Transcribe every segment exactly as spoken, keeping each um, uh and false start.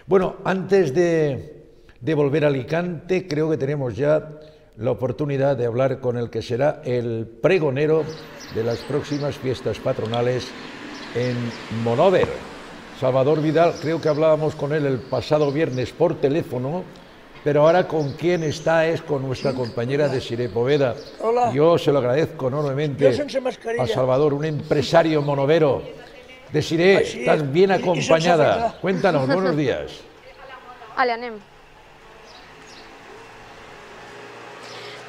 Bueno, antes de, de volver a Alicante, creo que tenemos ya la oportunidad de hablar con el que será el pregonero de las próximas fiestas patronales en Monóver. Salvador Vidal, creo que hablábamos con él el pasado viernes por teléfono, pero ahora con quien está es con nuestra compañera Desiree Poveda. Hola. Yo se lo agradezco enormemente a Salvador, un empresario monovero. Desiree, Així, estás bien i- i acompañada. sense Cuéntanos, buenos días. Ale, anem.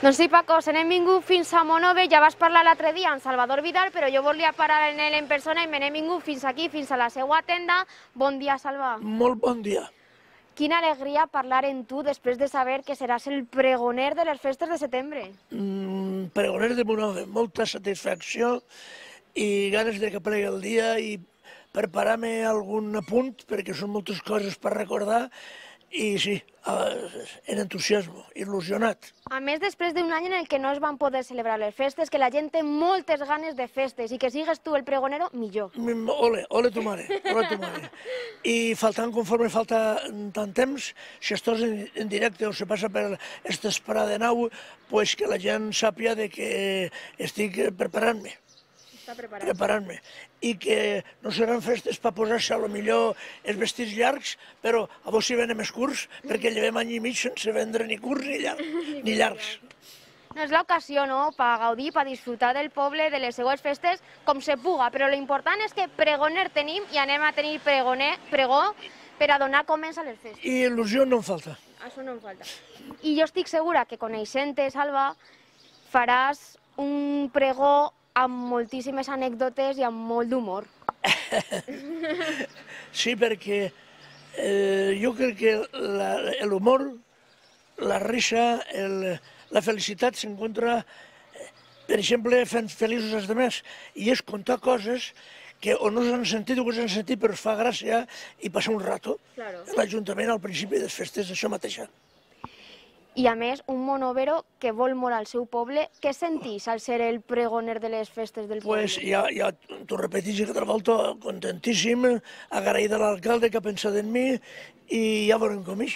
Doncs sí, Paco, se n'hem vingut fins a Monòver, ja vas parlar l'altre dia amb Salvador Vidal, però jo volia parar en ell en persona i me n'hem vingut fins aquí, fins a la seva tenda. Bon dia, Salva. Molt bon dia. Quina alegria parlar amb tu després de saber que seràs el pregoner de les festes de setembre. Mm, pregoner de Monòver, molta satisfacció i ganes de que plegui el dia i preparar-me algun apunt perquè són moltes coses per recordar i sí, en entusiasme, il·lusionat. A més, després d'un any en el que no es van poder celebrar les festes, que la gent té moltes ganes de festes i que sigues tu el pregonero, millor. Mm, Ole, ole tu mare, ole tu mare. I faltant, conforme falta tant temps, si estàs en, en directe o se passa per esta esperada de nau, pues que la gent sàpia de que estic preparant-me. Està preparat. preparant-me, i que no seran festes per posar-se a lo millor els vestits llargs, però a vos si venen més curts, perquè llevem any i mig sense vendre ni curts ni llargs. Ni llargs. No és l'ocasió, no?, per gaudir, per disfrutar del poble, de les seues festes, com se puga, però l'important és que pregoner tenim i anem a tenir pregoner, pregó per a donar començ a les festes. I il·lusió no em falta. Això no em falta. I jo estic segura que coneixent-te, Salva, faràs un pregó amb moltíssimes anècdotes i amb molt d'humor. Sí, perquè eh, jo crec que l'humor, la risa, el, la felicitat s'encontra, per exemple, fent feliços els altres, i és contar coses que o no s'han sentit o que s'han sentit però es fa gràcia i passar un rato. Claro. L'Ajuntament al principi de les festes, això mateixa. I a més, un monovero que vol molt al seu poble, què sentís al ser el pregoner de les festes del poble? Pues ja, ja t'ho repetís aquesta volta, contentíssim, agraït a l'alcalde que ha pensat en mi i ja veurem com és.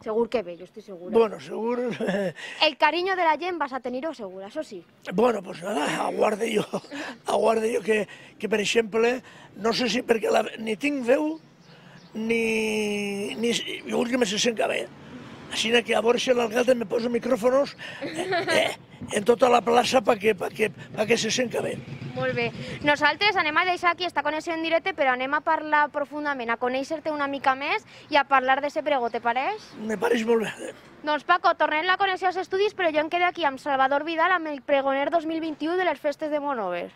Segur que bé, jo estic segura. Bueno, segur... El carinyo de la gent vas a tenir-ho segura, això sí. Bueno, pues nada, aguarde jo, aguarde jo que, que per exemple, no sé si perquè la, ni tinc veu, ni... ni jo vull que me se sent bé. Així que a veure si l'alcalde me posa micròfonos eh, eh, en tota la plaça perquè pa que, pa que se sent bé. Molt bé. Nosaltres anem a deixar aquí esta connexió en directe, però anem a parlar profundament, a conèixer-te una mica més i a parlar de ese pregó, te pareix? Me pareix molt bé. Doncs Paco, tornem la connexió als estudis, però jo em quedo aquí amb Salvador Vidal, amb el pregoner dos mil vint-i-u de les festes de Monòver.